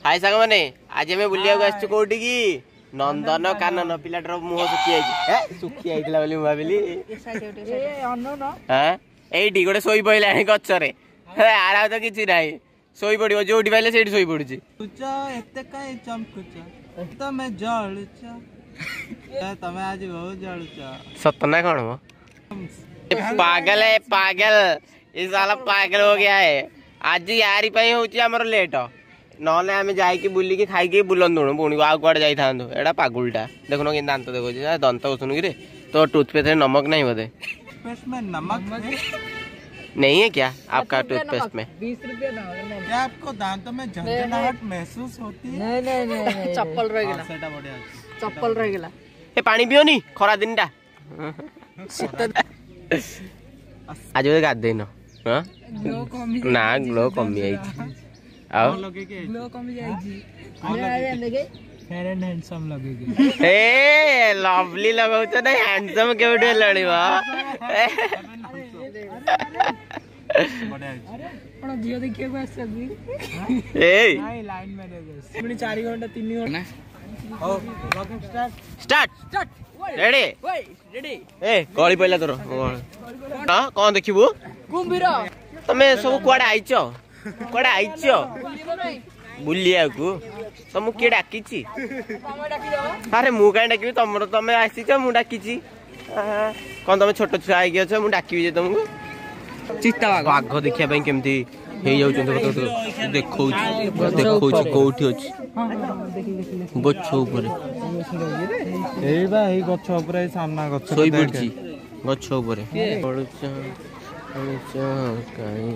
High ସାଙ୍ଗମାନେ, ଆଜି ଆମେ ବୁଲିବାକୁ ଆସିଛୁ କୋଉଠିକି? ନନ୍ଦନ କାନନ। ପିଲାଟାର ମୁହଁ ଶୁଖି ଯାଇଛି, ଶୁଖି ଯାଇଥିଲା ବୋଲି ମୁଁ ଭାବିଲି। ଏଇଠି ଗୋଟେ ଶୋଇ ପଇଲାଣି ଗଛରେ, ଆର ତ କିଛି ନାହିଁ, ଶୋଇ ପଡିବ ଯୋଉଠି ପାଇଲେ ସେଇଠି ଶୋଇ ପଡୁଛି। ଏତେ କାଇଁ ଚମକୁଛ ତମେ, ଜଳୁଛ ତମେ ଆଜି, ବହୁତ ଜଳୁଛ। ସତ ନା କଣ? ପାଗଲ ହେ ପାଗଲ, ଏ ସାଲା ପାଗଲ हो गया है। ଆଜି ୟାରି ପାଇଁ ହଉଛି ଆମର ଲେଟ, ନହେଲେ ଆମେ ଯାଇକି ବୁଲିକି ଖାଇକି ବୁଲନ୍ତୁଣୁ, ପୁଣି ଆଉ କୁଆଡେ ଯାଇଥାନ୍ତୁ। ଏଇଟା ପାଗୁଲଟା ଦେଖୁନ କେମିତି ଦାନ୍ତ ଦେଖୁଛି, ଦନ୍ତ ଘଷୁନୁ କିରେ? ତୋ ଟୁଥପେଷ୍ଟରେ ନମକ ନାହିଁ ବୋଧେ? नमक नहीं है क्या आपका टूथपेस्ट में? 20 रुपये। क्या आपको दांतों में झंझनाहट महसूस होती है? नहीं नहीं नहीं, ଚପଲ ରହିଗଲା। ସେଟା ବଢିଆ ଅଛି। ଚପଲ ରହିଗଲା। ଏ ପାଣି ପିଅନି ଖରା ଦିନଟା। ଶୀତ। ଆଜି ବୋଧେ ଗାଧେଇନ? ହଁ ନା, ଗ୍ଲୋ କମି ଯାଇଛି। ଆଉ ଗ୍ଲୋ କମି ଯାଇଛି। ଫେୟାର ଆଣ୍ଡ ହ୍ୟାଣ୍ଡସମ୍ ଲଗେଇକି। ଏ ଲଭଲି ଲଗାଉଛ ନା, ହ୍ୟାଣ୍ଡସମ୍ କେବେଠୁ ହେଲାଣି ବା? ବଢିଆ ଅଛି। ଆପଣ ଝିଅ ଦେଖିବାକୁ ଆସିଛନ୍ତି? ଏଇ ନାଇଁ, ଲାଇନ ମ୍ୟାରେଜ। ପୁଣି 4 ଘଣ୍ଟା 3 ଘଣ୍ଟା। ହଉ, blogging start. Start, ready. Ready. ଏ ଗଳି ପଇଲା ତୋର। ହଁ, କଣ ଦେଖିବୁ? କୁମ୍ଭୀର। ତମେ ସବୁ କୁଆଡେ ଆଇଛ? କୁଆଡେ ଆଇଛ ବୁଲିବାକୁ? ତମକୁ କିଏ ଡାକିଛି? ଆରେ ମୁଁ କାହିଁ ଡାକିବି? ତମର ତମେ ଆସିଛ, ମୁଁ ଡାକିଛି କଣ? ତମେ ଛୋଟ ଛୁଆ ହେଇକି ଅଛ, ମୁଁ ଡାକିବି ଯେ ତମକୁ? ଚିତା। ବାଘ ଦେଖିବା ପାଇଁ କେମିତି ହେଇଯାଉଛନ୍ତି। ଦେଖଉଛି ଦେଖଉଛି, କୋଉଠି ଅଛି? ଗଛ ଉପରେ। ଏଇ ବା, ଏଇ ଗଛ ଉପରେ, ଏଇ ସାମ୍ନା ଗଛ। ଶୋଇ ପଡିଛି ଗଛ ଉପରେ। ପଳୁଛ ପଳୁଛ କାଇଁ?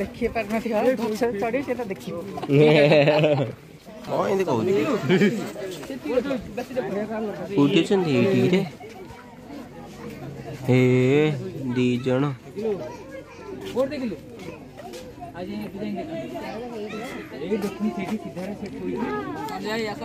ଦେଖି ପାରୁନଥିବ, ଗଛରେ ଚଢି ସେଟା ଦେଖିବ। କଣ ଏମିତି କହୁଛୁ? କୋଉଠି ଅଛନ୍ତି? ଏଇଠି ରେ ହେ ଦି ଜଣ। କୋଉଠି ଦେଖିଲୁ? ଆଜି ଏଇ ଦେଖୁন, ସେଇଠି ସିଧାରେ ସେଠି। ଆସ।